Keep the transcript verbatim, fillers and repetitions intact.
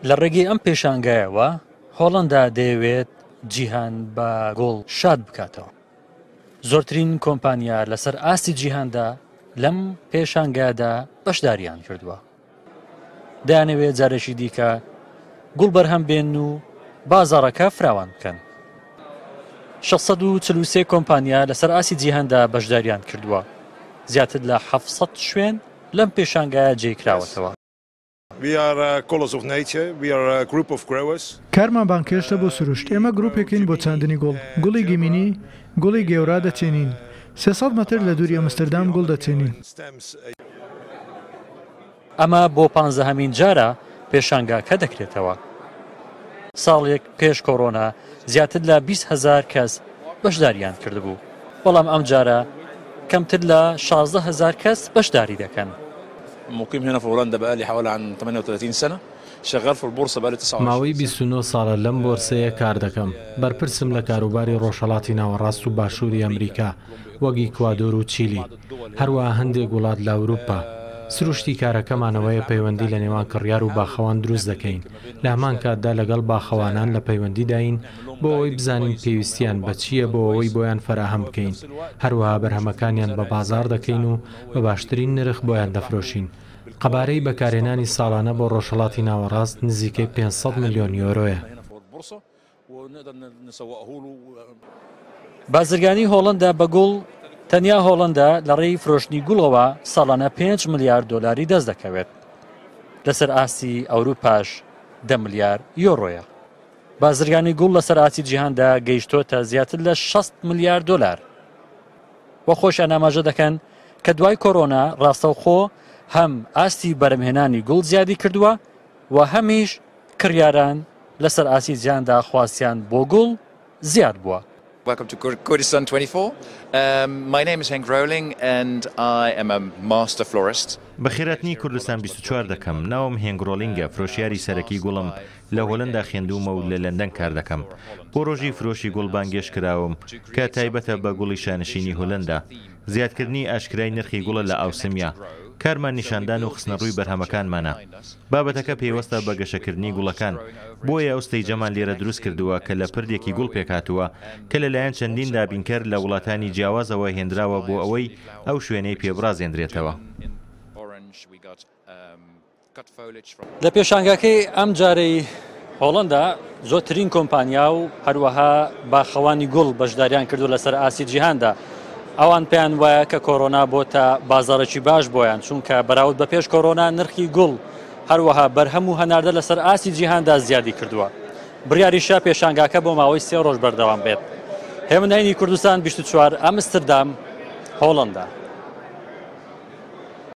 لە ڕێگەی ئەم پێشانگایەوە هۆڵندا دەیەوێت جیهان بە گوڵ شاد بکاتەوە. زۆرترین کۆمپانیا لەسەر ئاستی جیهاندا لەم پێشانگادا بەشداریان کردووە. دەیانەوێت جارێکی دیکە گوڵ بەرهەم بێن و بازاڕەکە فراوان بکەن. شەش سەد و چل و سێ کۆمپانیا لەسەر ئاستی جیهاندا بەشداریان کردووە. زیاتر لە حەفت سەد شوێن لەم پێشانگایە جێکراوەتەوە. کارمان بانکێشتە بۆ سروشت. ئێمە گروپێکین بۆ چاندنی گوڵ، گوڵی گیمینی، گوڵی گێورا دەچێنین. سێ سەد مەتر لە دووری ئەمستردام گوڵ دەچێنین. ئەمە بۆ پانزەهەمین جارە پێشانگاکە دەکرێتەوە. ساڵێک پێش کۆرۆنا زیاتر لە بیست هەزار کەس بەشداریان کردبوو، بەڵام ئەم جارە کەمتر لە شازدە هەزار کەس بەشداری دەکەن. مقيم هنا في هولندا بقالي حوالي عن ثمانية وثلاثين سنة، شغال في البورصة بقالي تسعة وعشرين. ماوەی بیست و نۆ ساڵە لەم بۆرسەیە کار دەکەم. بەرپرسم لە کاروباری ڕۆژهەڵاتی ناوەڕاست و باشووری ئەمریکا وەک ئیکوادۆر و چیلی، هەروەها هەندێک وڵات لە ئەوروپا. سروشتی کارەکەمانەوەیە پەیوەندی لە نێوان کڕیار و باخەوان دروست دەکەین. لە هەمان کاتدا لەگەڵ باخەوانان لە پەیوەندیداین بۆ ئەوەی بزانین پێویستیان بە چییە بۆ ئەوەی بۆیان فەراهەم بکەین. هەروەها بەرهەمەکانیان بە بازار دەکەین و بە باشترین نرخ بۆیان دەفرۆشین. قەبارەی بەکارهێنانی ساڵانە بۆ ڕۆژهەڵاتی ناوەڕاست نزیکەی پێنج سەد ملیۆن یۆرۆیە. بازرگانی هۆڵندا بە گوڵ تەنیا هۆڵندا لە ڕێی فرۆشتنی گوڵەوە ساڵانە پێنج ملیار دۆلاری دەست دەکەوێت. لەسەر ئاستی ئەوروپاش دە ملیار یۆرۆیە. بازرگانی گوڵ لەسەر ئاستی جیهاندا گەیشتۆتە زیاتر لە شەست ملیار دۆلار. وە خۆشیان ئاماژە دەکەن کە دوای کۆرۆنا ڕاستەوخۆ هەم ئاستی بەرەمهێنانی گوڵ زیادی کردووە و هەمیش کڕیاران لەسەر ئاستی جیهاندا خواستیان بۆ گوڵ زیاد بووە. Welcome to Kurdistan twenty-four. Um, my name is Henk Rowling and I am a master florist. بەخێراتنی کوردستان بیست و چوار دەکەم. ناوم هێنگ ڕۆلینگە، فرۆشیاری سەرەکی گوڵم. لە هۆلندا خوێندوومە و لە لەندەن کار دەکەم. بۆ ڕۆژی فرۆشی گوڵ بانگێش کراوم کە تایبەتە بە گوڵی شانشینی هۆلندا. زیادکردنی ئاشکرای نرخی گوڵە لە ئاوسمیا. کارمان نیشاندان و خستنەڕووی بەرهەمەکانمانە. بابەتەکە پەیوەستە بە گەشەکردنی گوڵەکان. بۆیە ئەو ستەیجەمان لێرە دروست کردووە کە لە پردێکی گوڵ پێکهاتووە کە لەلایەن چەندین دابینکەر لە وڵاتانی جیاوازەوە هێنراوە بۆ ئەوەی ئەو شوێنەی پێبڕازێندرێتەوە. لە پێشانگاکەی ئەم جارەی هۆڵندا زۆرترین کۆمپانیا و هەروەها باخەوانی گوڵ بەشداریان کردو لەسەر ئاستی جیهاندا. ئەوان پێیان وایە کە کۆرۆنا بۆتە بازارێکی باش بۆیان، چونکە بەراورد بە پێش کۆرۆنا نرخی گوڵ هەروەها بەرهەم و هەناردە لەسەر ئاستی جیهاندا زیادی کردووە. بڕیاریشە پێشانگاکە بۆ ماوەی سێ ڕۆژ بەردەوام بێت. هێمنهینی کوردستان بیست و چوار، ئەمستردام، هۆڵندا.